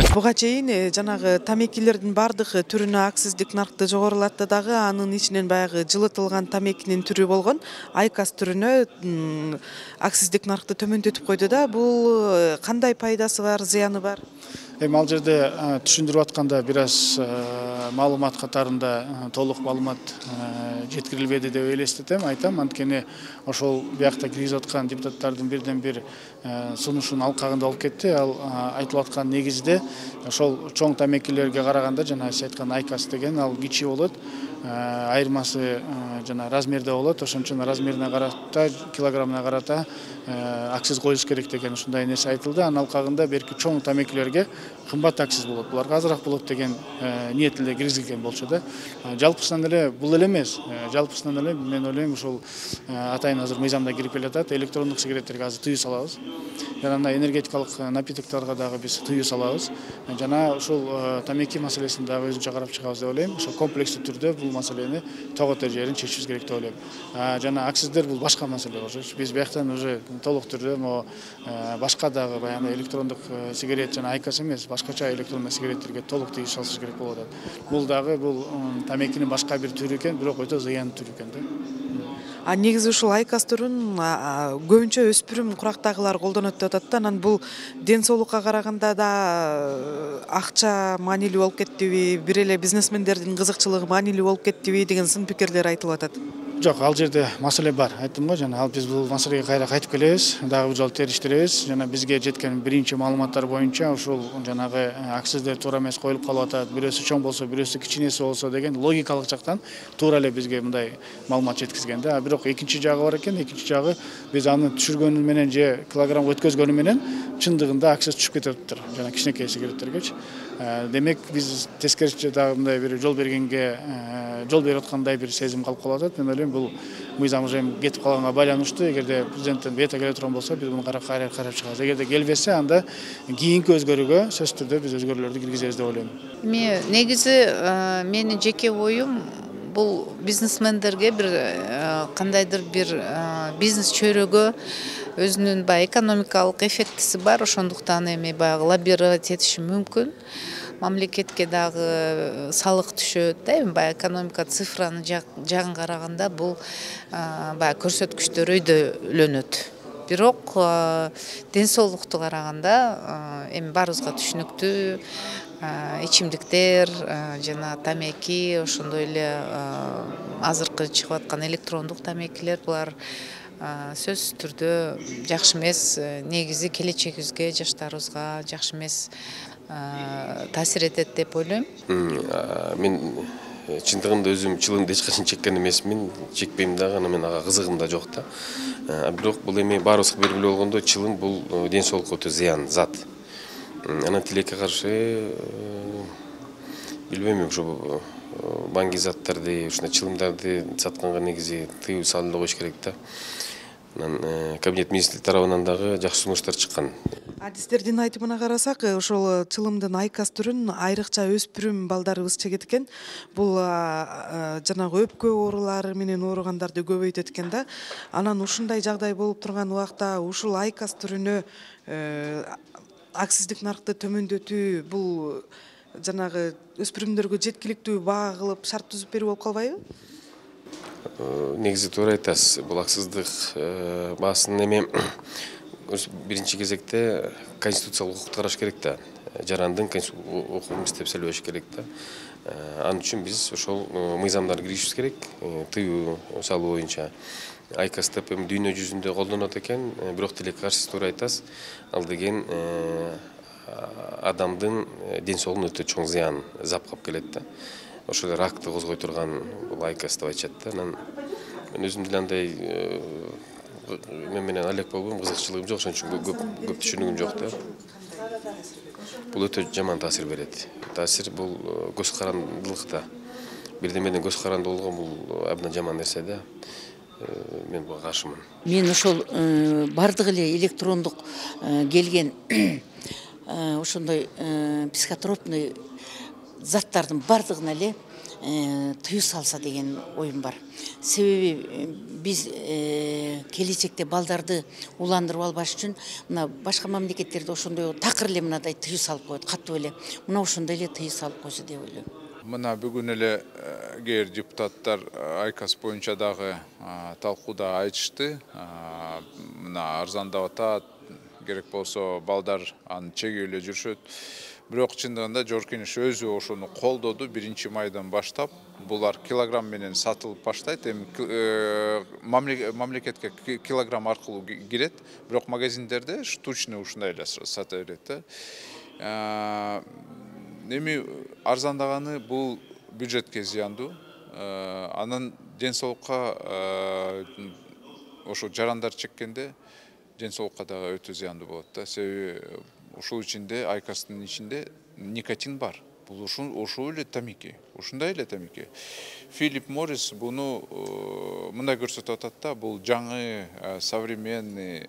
Буга чейин жанагы тамекилердин бардык түрүнө акциздик наркты жогорулатты дагы, анын ичинен баягы жылытылган тамекинин түрү болгон айкос түрүнө акциздик наркты төмөндөтүп койду да. Бул кандай пайдасы бар, зыяны бар? Эми ал жерде түшүндүрүп атканда бир аз маалымат катарында толук маалымат жеткирилбеди деп элестетем, айтам. Анткени ошол биякта киргизип аткан депутаттардын бирден бир сунушунун алкагында болуп кетти. Ал айтылып аткан негизде ошол чоң тамекилерге караганда жана сиз айткан айкос деген ал кичи болот. Айырмасы жана размерде болот. Ошон размерине карата, килограммына карата акциз коюш керек деген ушундай нерсе айтылды. Анын алкагында берки чоң тамекилерге кымбат акциз болот. Буларга азыраак болот деген ниет эле киргизилген болчу да. Жалпысынан эле бул эле эмес. Жалпысынан эле мен ойлойм ушул атайын азыр мыйзамда кирип келатат. Электрондук сигареттерге азыр тыюу салабыз. Жана мына энергетикалык напитокторго дагы биз тыюу салабыз. Жана ушул тамеки маселесин дагы өзүнчө карап чыгабыз деп ойлойм. Ошо комплекстүү түрдө бул маселени тогото жерин чечишибиз керек деп ойлойм. Жана акциздер бул башка маселе болчу. Биз бияктан уже толук түрдө могу башка дагы баягы электрондук сигарет жана айкос эмес, башкача электрондук сигареттерге толук тыюу салышыбыз керек болуп атат. Бул дагы бул тамекинин башка бир түрү экен, бирок өтө зыяндуу түрү экен да. Негизи ушул айкос түрүн көбүнчө өспүрүм курактагылар колдонот деп атат да. Анан бул ден соолукка караганда да акча маанилүү болуп кеттиби, бир эле бизнесмендердин кызыкчылыгы маанилүү болуп кеттиби деген сын пикирлер айтылып атат. Жок, ал жерде маселе бар. Айттым го, жана ал биз бул маселеге кайра кайтып келебиз, дагы бир жолу териштиребиз. Жана бизге жеткен биринчи маалыматтар боюнча ушул жанагы акциздер туура эмес коюлуп калып атат. Бирөөсү чоң болсо, бирөөсү кичинеси болсо деген логикалык жактан туура эле бизге мындай маалымат жеткизген да. Бирок экинчи жагы бар экен. Экинчи жагы биз аны түшүргөнү менен же килограммга өткөзгөнү менен чындыгында акциз түшүп кетиптир. Жана кичинекей сигареттергечи. Демек биз тескерисинче дагы мындай бир жол бергенге жол берип аткандай бир сезим калып калып атат. Мен ойлойм бул мыйзам уже кетип калганга байланыштуу. Эгерде президенттен вето келе турган болсо, биз муну карап чыгабыз. Эгерде келбесе, анда кийинки өзгөрүүгө сөзсүз түрдө биз өзгөрүүлөрдү киргизебиз деп ойлойм. Эми негизи менин жеке оюм бул бизнесмендерге бир кандайдыр бир бизнес чөйрөгө өзүнүн баягы экономикалык эффектиси бар. Ошондуктан эми баягы лоббировать этиши мүмкүн. Мамлекетке дагы салык түшөт да. Эми баягы экономика цифранын жагын караганда бул баягы көрсөткүчтөр өйдөлөнөт. Бирок ден соолукту караганда эми баарыбызга түшүнүктүү ичимдиктер жана тамеки, ошондой эле азыркы чыгып аткан электрондук тамекилер булар сөзсүз түрдө жакшы эмес. Негизи келечегибизге, жаштарыбызга жакшы эмес таасир этет деп ойлойм. Мен чындыгында өзүм чылымды эч качан чеккен эмесмин, чекпейм дагы, анан мен ага кызыгым да жок да. Бирок бул эми баарыбызга белгилүү болгондо чылым бул ден соолукка өтө зыян зат. Анан тилекке каршы билбейм, ушу баңги заттарды, ушундай чылымдарды сатканга негизи тыюу салынып коюш керек да. Анан кабинет министрлиги тарабынан дагы жакшы сунуштар чыккан. Адистердин айтымына карасак, ошол чылымдын айкос түрүн айрыкча өспүрүм балдарыбыз чегет экен. Бул жанагы өпкө оорулары менен ооругандарды көбөйтөт экен да. Анан ушундай жагдай болуп турган убакта ушул айкос түрүнө акциздик наркты төмөндөтүү бул жанагы өспүрүмдөргө жеткиликтүү баа кылып шарт түзүп берүү болуп калбайбы? Негизи туура айтасыз. Бул акциздик баасын эми биринчи кезекте конституциялык укукту караш керек да. Жарандын укугун иштеп сөйлөш керек да. Ал үчүн биз ошол мыйзамдарды киргизишибиз керек. Тыюу салуу боюнча айкос деп эми дүйнө жүзүндө колдонот экен, бирок тилекке каршы туура айтасыз. Ал деген адамдын ден соолугуна өтө чоң зыян запкап келет да. Ошол ракты козгой турган бул айкос деп айтышат да. Анан мен өзүм деле андай мен менен алек болгом, кызыкчылыгым жок, ошон үчүн көп түшүнүгүм жок да. Бул өтө жаман таасир берет. Таасир бул көз карандылыкта. Бирдемеден көз каранды болгон бул абдан жаман нерсе да. Мен буга каршымын. Мен ошол бардык эле электрондук келген ошондой психотропный заттардын бардыгына эле тыюу салса деген оюм бар. Себеби биз келечекте балдарды уландырып албаш үчүн мына башка мамлекеттерде ошондой такыр эле мындай тыюу салып коет, катуу эле. Мына ошондой эле тыюу салып койсо деп ойлойм. Мына бүгүн эле кээ депутаттар Айкас боюнча дагы талкууда айтышты. Мына арзандап атат, керек болсо балдар аны чегип эле жүрүшөт. Бирок чындыгында Жогорку Кеңеш өзү ошону колдоду 1-майдан баштап. Булар килограмм менен сатылып баштайт. Эми мамлекетке килограмм аркылуу кирет, бирок магазиндерде штучный ушундай эле сата берет. Эми арзандаганы бул бюджетке зыяндуу. Анан ден соолукка ошо жарандар чеккенде ден соолукка дагы өтө зыяндуу болот да. Себеби ушул ичинде Айкастын ичинде никотин бар. Бул ошол эле тамеки, ушундай эле тамеки. Филипп Моррис буну мындай көрсөтүп атат да, бул жаңы современный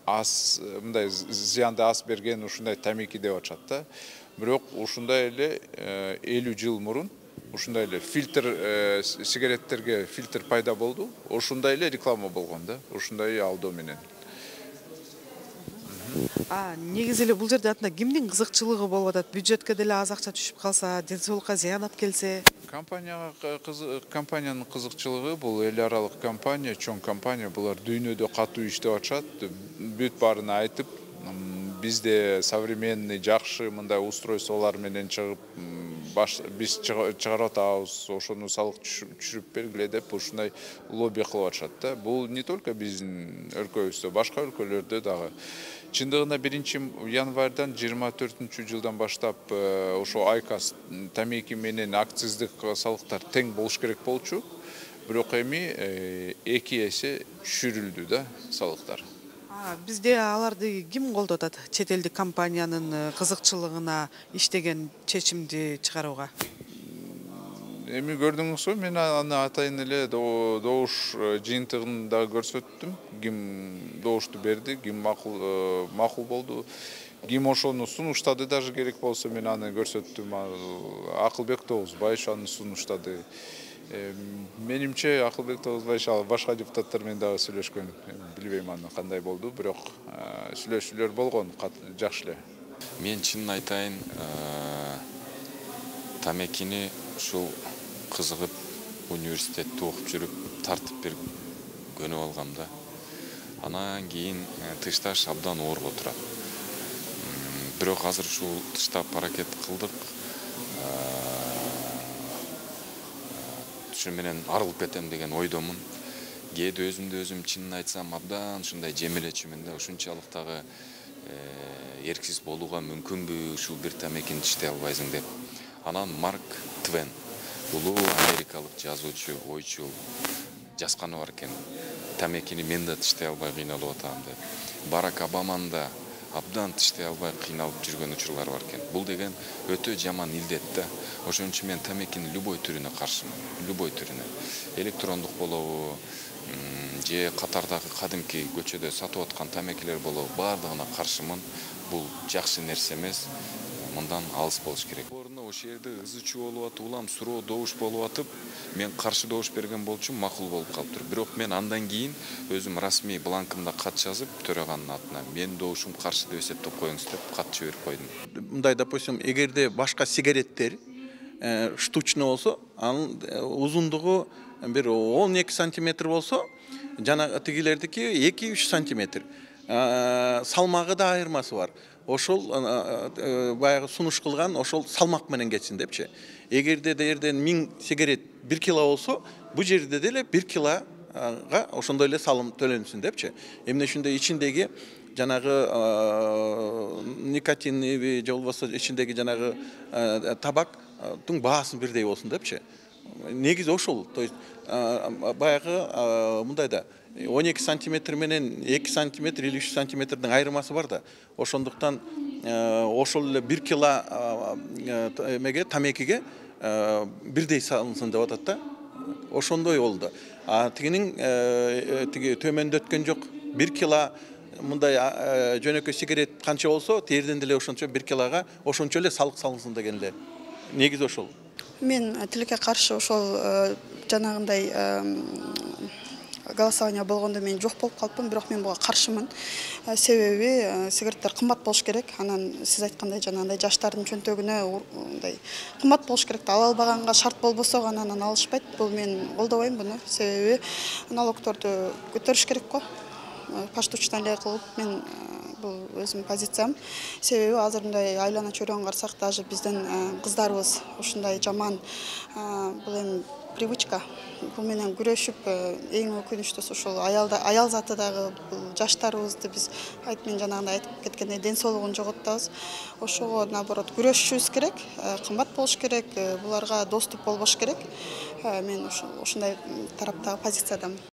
ас, мындай зыянды ас берген ушундай тамеки деп атышат да. Бирок ушундай эле 50 жыл мурун ушундай эле фильтр сигареттерге фильтр пайда болду. Ошундай эле реклама болгон да, ушундай алдоо менен. Негизи эле бул жерде атында кимдин кызыкчылыгы болуп атат? Бюджетке деле аз акча түшүп калса, ден соолукка зыян алып келсе? Компаниянын кызыкчылыгы бул эл аралык компания, чоң компания, булар дүйнөдө катуу иштеп атышат. Бүт баарын айтып, бизде современный жакшы мындай устройстволор менен чыгып, биз чыгарып атабыз, ошону салык түшүрүп бергиле деп ушундай лобби кылып атышат да. Бул не только биздин өлкөбүздө, башка өлкөлөрдө дагы. Чындыгында 1-январдан 24-жылдан баштап ошо Айкас тамеки менен акциздик салыктар тең болуш керек болчу. Бирок эми 2 эсе түшүрүлдү да салыктар. Бизде аларды ким колдоп атат? Чет элдик компаниянын кызыкчылыгына иштеген чечимди чыгарууга. Эми көрдүңүзбү, мен аны атайын эле добуш жыйынтыгын да көрсөттүм. Ким добушту берди, ким макул болду. Ким ошону сунуштады, даже керек болсо мен аны көрсөттүм. Акылбек Тогузбаев аны сунуштады. Менимче Акылбек Тогузбаев башка депутаттар менен дагы сүйлөшкөн. Билбейм аны кандай болду, бирок сүйлөшүүлөр болгон, жакшы эле. Мен чынын айтайын, тамекини ушул кызыгып университетте окуп жүрүп тартып берип көнүп алгам да. Анан кийин тышташ абдан ооруп отурат. Бирок азыр ушул тыштап аракет кылдык. Ушун менен арылып кетем деген ойдомун. Кээде өзүм чынын айтсам абдан ушундай жемелечүмүн да, ушунчалык дагы эрксиз болууга мүмкүнбү ушул бир тамекини иштей албайсың деп. Анан Марк Твен, улуу америкалык жазуучу, ойчул жазганы бар экен. Тамекини мен да иштей албай кыйналып атам деп. Барак Обаманы да абдан иштей албай кыйналып жүргөн учурлар бар экен. Бул деген өтө жаман илдет да. Ошон үчүн мен тамекинин любой түрүнө каршымын. Любой түрүнө. Электрондук болобу, же катардагы кадимки көчөдө сатып аткан тамекилер болобу, баардыгына каршымын. Бул жакшы нерсе эмес. Мындан алыс болуш керек. Ошол жерде ызы-чуу болуп атып, улам суроо добуш болуп атып, мен каршы добуш берген болчумун, макул болуп калыптыр. Бирок мен андан кийин өзүм расмий бланкымда кат жазып, төраганын атына мен добушум каршы деп эсептеп коюңуз деп кат жиберип койдум. Мындай, допустим, эгерде башка сигареттер штучный болсо, анын узундугу бир 12 сантиметр болсо, жана тигилердики 2-3 сантиметр. Салмагы да айырмасы бар. Ошол баягы сунуш кылган ошол салмак менен кетсин депчи. Эгерде дээрден 1000 сигарет 1 кило болсо, бул жерде деле 1 килога ошондой эле салым төлөнсүн депчи. Эмне үчүндө ичиндеги жанагы никотин же болбосо ичиндеги жанагы табактын баасын бирдей болсун депчи. Негизи ошол. То есть баягы мындай да 12 сантиметр менен 2 сантиметр или 3 сантиметрдин айырмасы бар да. Ошондуктан ошол эле 1 кило эмеге тамекиге бирдей салынсын деп атат да. Ошондой болду. Тигинин тиги төмөндөткөн жок. 1 кило мындай жөнөкөй сигарет канча болсо, терден деле ошончо 1 килога ошончо эле салык салынсын деген эле. Негизи ошол. Мен тилекке каршы ошол жанагындай голосование болгондо мен жок болуп калыпмын, бирок мен буга каршымын. Себеби сигареттер кымбат болуш керек. Анан сиз айткандай жанагындай жаштардын чөнтөгүнө мындай кымбат болуш керек. Ала албаганга шарт болбосо гана анан алышпайт. Бул мен колдобойм буну. Себеби налогторду көтөрүш керек го. Паштучтан эле кылып мен бул өзүмдүн позициям. Себеби азыр мындай айлана чөйрөгөн карасак, даже биздин кыздарыбыз ушундай жаман бул эми привычка. Бул менен күрөшүп эң өкүнүчтүүсү ушул аял заты дагы бул жаштарыбызды биз мен жанагындай айтып кеткендей ден соолугун жоготтобуз. Ошого наоборот күрөшүшүбүз керек, кымбат болуш керек, буларга доступ болбош керек. Мен ушундай тараптагы позициядамын.